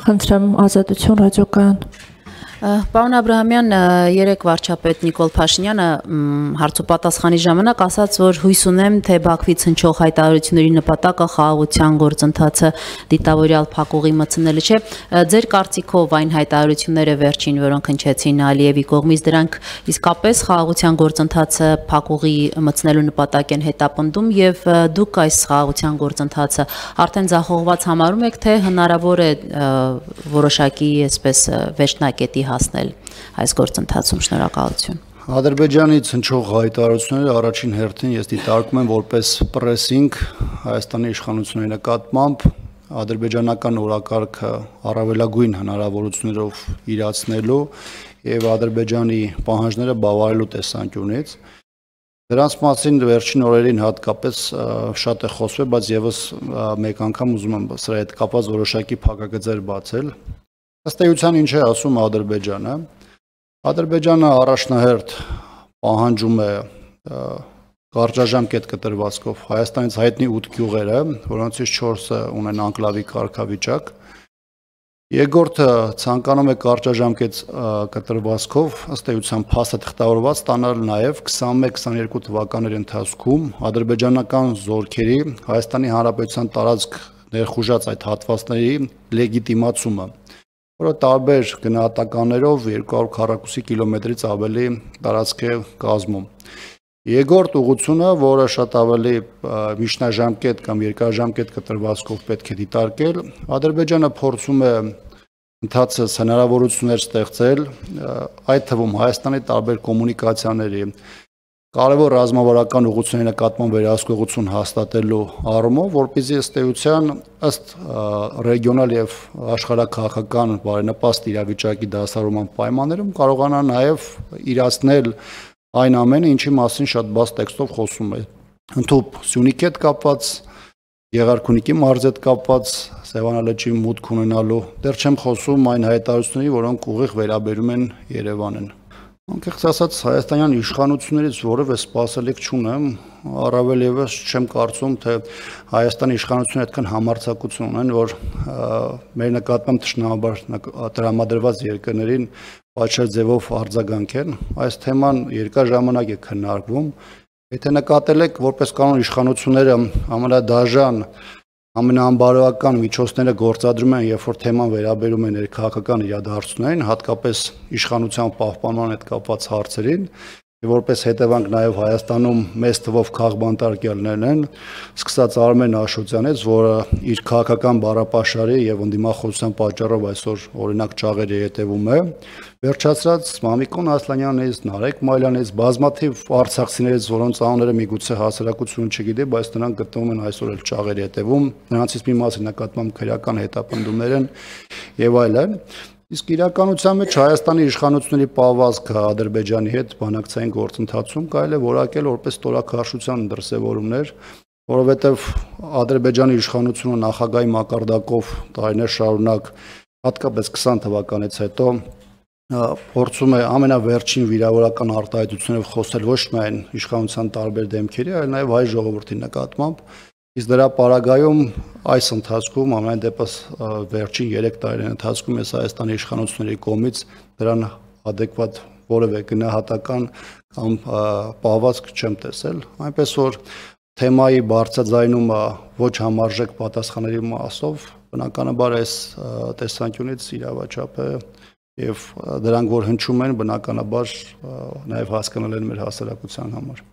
Խնդրեմ ազատություն ռադիոկայան։ Պարոն Աբրահամյան, երեկ վարչապետ Նիկոլ Փաշինյանը հարցոպատասխանի ժամանակ ասաց, որ հույս ունեմ, թե Բաքվից հնչող հայտարարությունների նպատակը խաղաղության գործընթացը դիտավորյալ փակուղի մտցնելը չէ։ Ձեր կարծիքով այն հայտարարությունները վերջին, որոնք հնչեցին Ալիևի կողմից, դրանք իսկապես խաղաղության գործընթացը փակուղի մտցնելու նպատակ են հետապնդում եւ դուք այս խաղաղության գործընթացը արդեն ձախողված համարում եք, թե հնարավոր է որոշակի այսպես վերջնակետի հասնել այս գործընթացում։ Շնորհակալություն։ Ադրբեջանից հնչող հայտարարությունները առաջին հերթին ես դիտարկում եմ որպես պրեսինգ Հայաստանի իշխանությունների նկատմամբ ադրբեջանական օրակարգը առավելագույն հնարավորություններով իրացնելու եւ Ադրբեջանի պահանջները բավարարելու տեսանկյունից։ Դրանց մասին վերջին օրերին հատկապես շատ է խոսվել, բայց եւս մեկ անգամ ուզում եմ սրա հետ կապված որոշակի փակագծեր բացել։ Ըստ էության ինչ է ասում Ադրբեջանը։ Ադրբեջանը առաջնահերթ պահանջում է կարճաժամկետ կտրվածքով Հայաստանից հայտնի 8 գյուղերը, որոնցից 4-ը ունեն անկլավի կարգավիճակ։ Երկրորդը ցանկանում է կարճաժամկետ կտրվածքով ըստ էության փաստը թղթավորված ստանալ նաև 21-22 թվականների ընթացքում ադրբեջանական զորքերի Հայաստանի Հանրապետության տարածք ներխուժած այդ հատվածների լեգիտիմացումը, որը տարբեր գնահատականներով 200 քառակուսի կիլոմետրից ավելի տարածք է կազմում։ Երկրորդ ուղղությունը, որը շատ ավելի միջնաժամկետ կամ երկարաժամկետ կտրվածքով պետք է դիտարկել, Ադրբեջանը փորձում է ընթացս հնարավորություններ ստեղծել, այդ թվում Հայաստանի տարբեր կոմունիկացիաների կարևոր ռազմավարական ուղղությունների նկատմամբ վերահսկողություն հաստատելու առումով, որպեսզի ըստ էության ըստ ռեգիոնալ եւ աշխարհաքաղաքական բարենպաստ իրավիճակի դասավորման պայմաններում կարողանա նաեւ իրացնել այն ամենը, ինչի մասին շատ բաց տեքստով խոսում է։ Ընդհանուր Սյունիքի հետ կապված, Եղարքունիքի մարզի հետ կապված Սևանալճի մուտք ունենալու, դեռ չեմ խոսում այն հայտարարությունների, որոնք ուղիղ վերաբերում են Երևանին։ Անկեղծ ասած, հայաստանյան իշխանություններից որևէ սպասելիք չունեմ, առավել եւս չեմ կարծում, թե Հայաստանի իշխանությունները այդքան համարձակություն ունեն, որ մեր նկատմամբ թշնամաբար տրամադրված երկրներին պատշաճ ձևով արձագանքեն։ Այս թեման երկար ժամանակ է քննարկվում։ Եթե նկատել եք, որպես կանոն իշխանությունները ամենադաժան, ամենաանբարոյական միջոցները գործադրում են, երբ որ թեման վերաբերում է ներքաղաքական իրադարձություններին, հատկապես իշխանության պահպանման հետ կապված հարցերին, եւ որպես հետևանք նաեւ Հայաստանում մեծ թվով քաղբանտարկյալներ են, սկսած Արմեն Աշոտյանից, որը իր քաղաքական բառապաշարի եւ ընդդիմախոսության պատճառով այսօր օրինակ ճաղերի հետևում է, վերջացրած Մամիկոն Ասլանյանից, Նարեկ Մայլյանից, բազմաթիվ արցախցիներից, որոնց անունները միգուցե հասարակությունը չգիտի, բայց նրանք գտնվում են այսօր էլ ճաղերի հետևում, նրանցից մի մասի նկատմամբ քրեական հետապնդումներ են եւ այլն։ Իսկ իրականության մեջ Հայաստանի իշխանությունների պահվածքը Ադրբեջանի հետ բանակցային գործընթացում կարելի է որակել որպես ստորաքարշության դրսևորումներ, որովհետև Ադրբեջանի իշխանությունը նախագահի մակարդակով տարիներ շարունակ, հատկապես 20 թվականից հետո փորձում է ամենավերջին վիրավորական արտահայտություններով խոսել ոչ միայն իշխանության տարբեր դեմքերի, այլ նաև հայ ժողովրդի նկատմամբ։ Իսկ դրա պարագայում այս ընթացքում ամեն դեպս վերջին 3 տարիների ընթացքում ես Հայաստանի իշխանությունների կողմից դրան adekvat որևէ գնահատական կամ պահվածք չեմ տեսել, այնպես որ թեմայի բարձրաձայնումը ոչ համարժեք պատասխանների մասով բնականաբար այս տեսանկյունից իրավաչափ է եւ դրանք որ հնչում են բնականաբար նաեւ հասկանալ են մեր հասարակության համար։